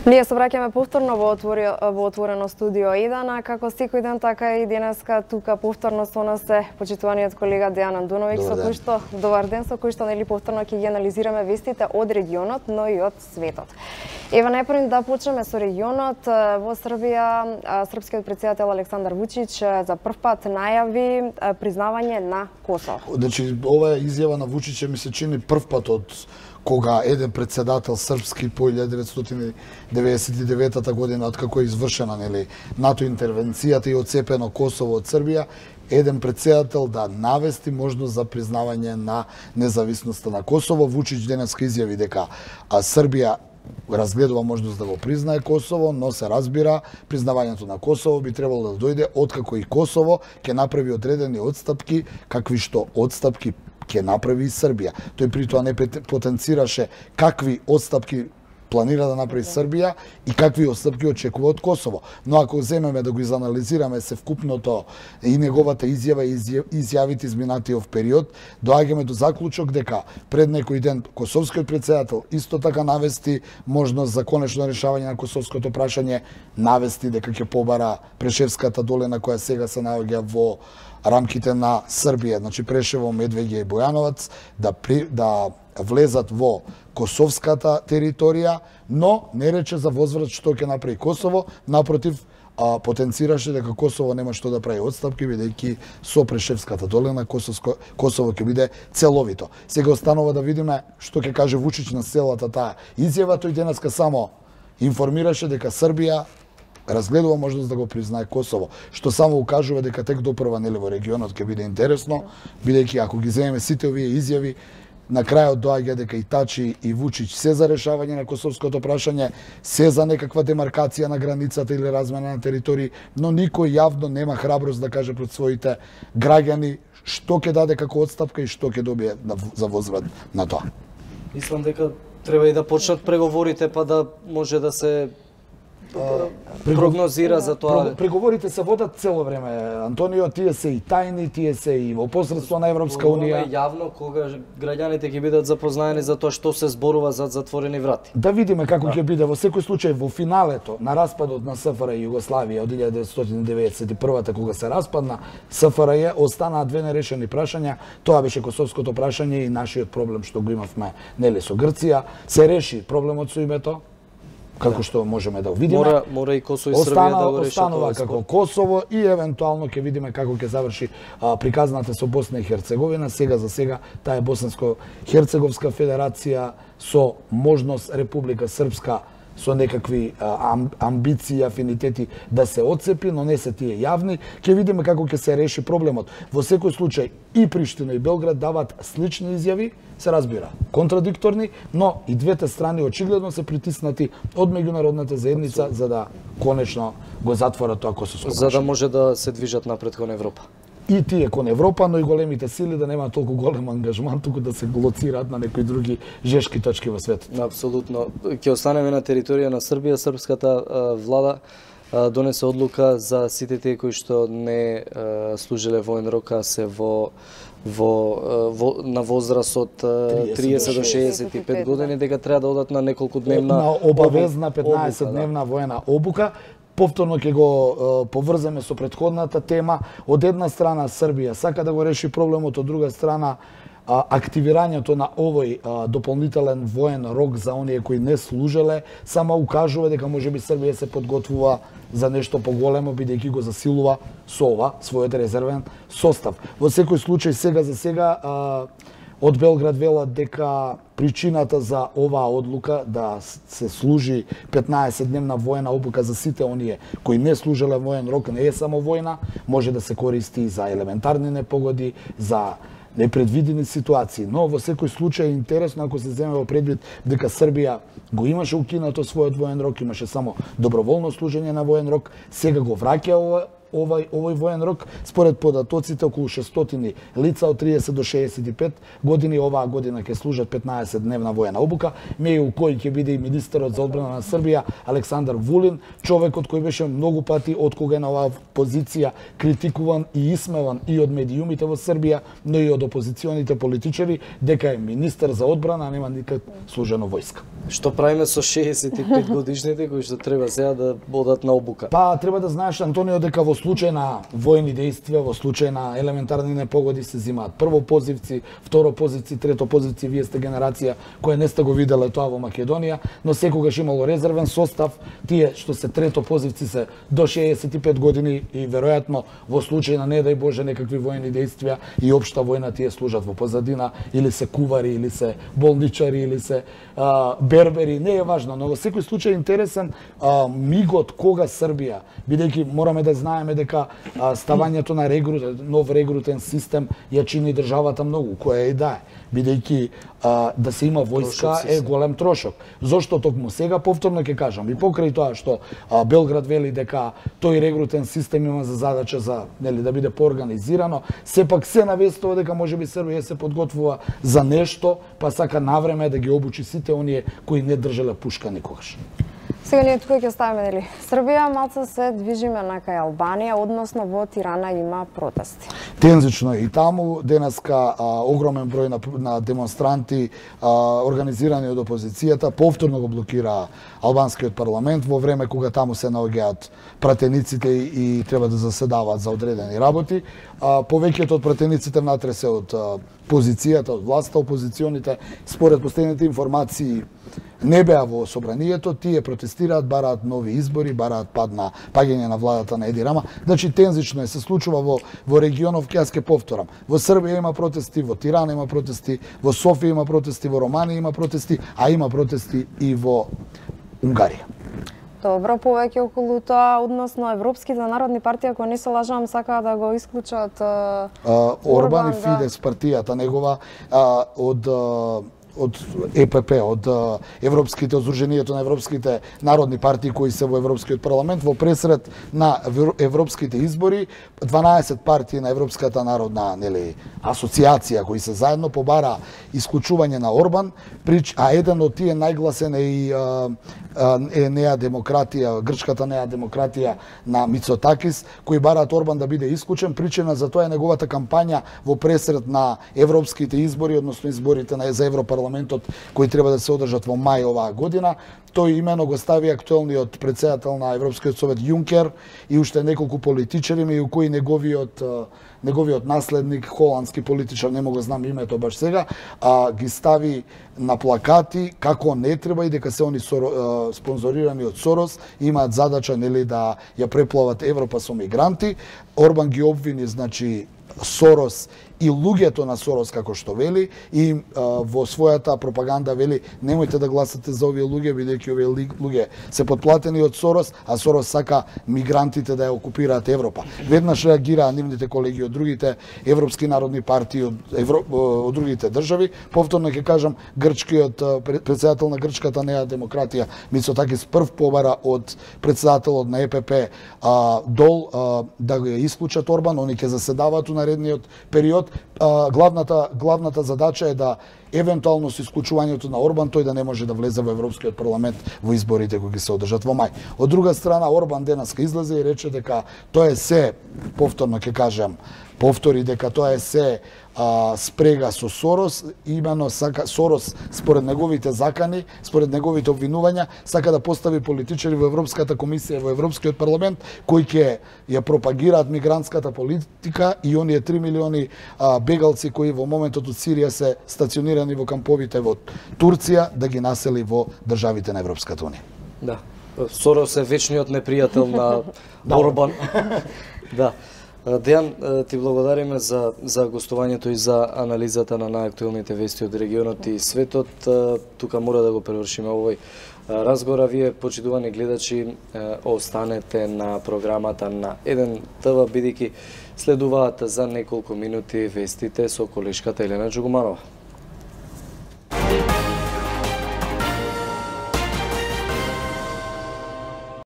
Ние се враќаме повторно во отворено студио 1, а како секој ден така и денеска тука повторно со нас е почитуваниот колега Дејан Андуновиќ, со кој што добар ден, со кој што нели повторно ќе ги анализираме вестите од регионот, но и од светот. Ева најпрво да почнеме со регионот. Во Србија српскиот претседател Александар Вучич за прв пат најави признавање на Косово. Значи ова изјава на Вучич ми се чини прв пат од кога еден претседател српски по 1999 година, откако е извршена нели НАТО интервенцијата и отцепено Косово од Србија, еден претседател да навести можност за признавање на независноста на Косово. Вучич денеска изјави дека Србија разгледува можност да го признае Косово, но се разбира признавањето на Косово би требало да дојде откако и Косово ќе направи одредени отстапки, какви што отстапки ќе направи и Србија. Тој при тоа не потенцираше какви отстапки планира да направи Србија и какви отстапки очекува од Косово. Но ако земеме да го изанализираме севкупното и неговата изјава и изјавите изминатиот период, доаѓаме до заклучок дека пред некој ден косовскиот претседател исто така навести можност за конечно решавање на косовското прашање, навести дека ќе побара Прешевската долина која сега се наоѓа во рамките на Србија, значи Прешево, Медвеѓа и Бојановац, да влезат во косовската територија, но не рече за возврат што ќе направи Косово, напротив, потенцираше дека Косово нема што да прави отстапки, бидејќи со Прешевската долина Косово ќе биде целовито. Сега останува да видиме што ќе каже Вучич на целата таа изјава. Тој денеска само информираше дека Србија разгледува можност да го признае Косово, што само укажува дека тек допрва нели во регионот ќе биде интересно, бидејќи ако ги земеме сите овие изјави, на крајот доаѓа дека и Тачи и Вучич се за решавање на косовското прашање, се за некаква демаркација на границата или размена на територии, но никој јавно нема храброст да каже пред своите граѓани што ќе даде како отстапка и што ќе добие за возврат на тоа. Мислам дека треба и да почнат преговорите, па да може да се прогнозира за тоа. Преговорите се водат цело време, Антонио, тие се и тајни, тие се и во посредство на Европска унија. Јавно кога граѓаните ќе бидат запознаени за тоа што се зборува зад затворени врати. Да видиме како ќе биде. Во секој случај во финалето на распадот на СФР Југославија од 1991 кога се распадна СФРЈ, останаа две нерешени прашања. Тоа беше косовското прашање и нашиот проблем што го имавме нели со Грција. Се реши проблемот со името, како што можеме да видиме. Мора и Косово и Србија да го решат. Останува како Косово и евентуално ќе видиме како ќе заврши приказната со Босна и Херцеговина. Сега за сега таа е Босанско-Херцеговска федерација со можност Република Српска со некакви амбиции, афинитети да се отцепи, но не се тие јавни. Ќе видиме како ќе се реши проблемот. Во секој случај и Приштина и Белград дават слични изјави, се разбира, контрадикторни, но и двете страни очигледно се притиснати од меѓународната заедница за да конечно го затворат тоа косовско прашање. За да може да се движат напред кон Европа. И тие кон Европа, но и големите сили да немаат толку голем ангажман, туку да се лоцираат на некои други жешки точки во светот. Апсолутно. Ќе останеме на територија на Србија. Српската влада донесе одлука за сите тие кои што не служиле воен рок, а се на возраст од 30 до 65 години, дека треба да одат на неколку дневна на обавезна 15-дневна воена обука. Повторно ќе го поврземе со претходната тема. Од една страна Србија сака да го реши проблемот, од друга страна активирањето на овој дополнителен воен рок за оние кои не служеле само укажува дека можеби Србија се подготвува за нешто поголемо, бидејќи го засилува со ова својот резервен состав. Во секој случај сега за сега од Белград велат дека причината за оваа одлука да се служи 15-дневна воена обука за сите оние кои не служеле воен рок не е само војна, може да се користи за елементарни непогоди, за непредвидени ситуации. Но во секој случај е интересно ако се земе во предвид дека Србија го имаше укинато својот воен рок, имаше само доброволно служење на воен рок, сега го враќа овој воен рок според податоците околу 600 лица од 30 до 65 години оваа година ќе служат 15 дневна воена обука, меѓу кои ќе биде и министерот за одбрана на Србија Александар Вулин, човекот кој беше многу пати од кога е на оваа позиција критикуван и исмеван и од медиумите во Србија, но и од опозиционите политичари дека е министер за одбрана, а нема никак служено војска. Што правиме со 65 годишните кои што треба сега да одат на обука? Па треба да знаеш, Антонио, дека во случај на војни дејствија, во случај на елементарни непогоди се земаат прво позивци, второ позивци, трето позивци. Вие сте генерација која не сте го виделе тоа во Македонија, но секогаш имало резервен состав. Тие што се трето позивци се до 65 години и веројатно во случај на не дај Боже некакви војни дејствија и општа војна, тие служат во позадина, или се кувари, или се болничари, или се бербери, не е важно, но во секој случај интересен мигот кога Србија, бидејќи мораме да знаеме дека ставањето на нов регрутен систем ја чини државата многу, која е да е, бидејќи да се има војска е голем трошок. Зошто токму сега повторно ќе кажам, и покрај тоа што Белград вели дека тој регрутен систем има за задача за да биде поорганизирано, сепак се навестува дека можеби Србија се подготвува за нешто, па сака навреме да ги обучи сите оние кои не држеле пушка никогаш. Сега ние тука ќе ставиме Србија, малце се движиме на кај Албанија, односно во Тирана има протести. Тензично и таму денеска огромен број на демонстранти организирани од опозицијата повторно го блокира албанскиот парламент во време кога таму се наоѓаат пратениците и треба да заседаваат за одредени работи. Повеќето од пратениците внатре се од позицијата, од власта, опозиционите според последните информации не беа во собранието, тие протестираат, бараат нови избори, бараат паѓање на владата на Еди Рама. Значи тензично се случува во регионов, јас ќе повторам. Во Србија има протести, во Тирана има протести, во Софија има протести, во Романија има протести, а има протести и во Унгарија. Добро, повеќе околу тоа, односно европските народни партии, ако не се лажам, сакаат да го исклучат Орбан и Фидес партијата негова од ЕПП, од Европските Сдруженијето на европските народни партии кои се во Европскиот парламент, во пресред на европските избори, 12 партии на Европската народна асоциација кои се заедно побара исклучување на Орбан, а еден од тие најгласен е и Неа демократија, грчката Неа демократија на Мицотакис, кои бараат Орбан да биде исклучен. Причина за тоа е неговата кампања во пресред на европските избори, односно изборите за Европарламентот кои треба да се одржат во мај оваа година. Тој имено го стави актуелниот председател на Европскиот совет Јункер и уште неколку политичари, меѓу кои неговиот наследник, холандски политичар, не мога знам името баш сега, ги стави на плакати како не треба и дека се они спонзорирани од Сорос, имаат задача да ја преплават Европа со мигранти. Орбан ги обвини, значи, Сорос и луѓето на Сорос, како што вели, и во својата пропаганда вели немојте да гласате за овие луѓе, бидејќи овие луѓе се подплатени од Сорос, а Сорос сака мигрантите да ја окупираат Европа. Веднаш реагираа нивните колеги од другите европски народни партии, од другите држави. Повторно ќе кажам, грчкиот председател на грчката Неа демократија Мицотакис прв побара од председателот на ЕПП Дол да го исклучат Орбан, они ќе заседаваат у наредниот период. Главната задача е да евентуално со исклучувањето на Орбан тој да не може да влезе во Европскиот парламент во изборите кои ќе се одржат во мај. Од друга страна, Орбан денеска излезе и рече дека тоа е се, повторно ќе кажам, повтори дека тоа е се спрега со Сорос, имено Сорос според неговите закани, според неговите обвинувања, сака да постави политичари во Европската комисија, во Европскиот парламент, кои ќе ја пропагираат мигрантската политика и оние 3 милиони бегалци кои во моментот од Сирија се стационирани во камповите во Турција, да ги насели во државите на Европската унија. Да. Сорос е вечниот непријател на Орбан. Да. Дејан, ти благодариме за гостувањето и за анализата на најактуелните вести од регионот и светот. Тука мора да го превршиме овој разговор, а вие, почитувани гледачи, останете на програмата на Еден ТВ, бидејќи следуваат за неколку минути вестите со колешката Елена Джугуманова.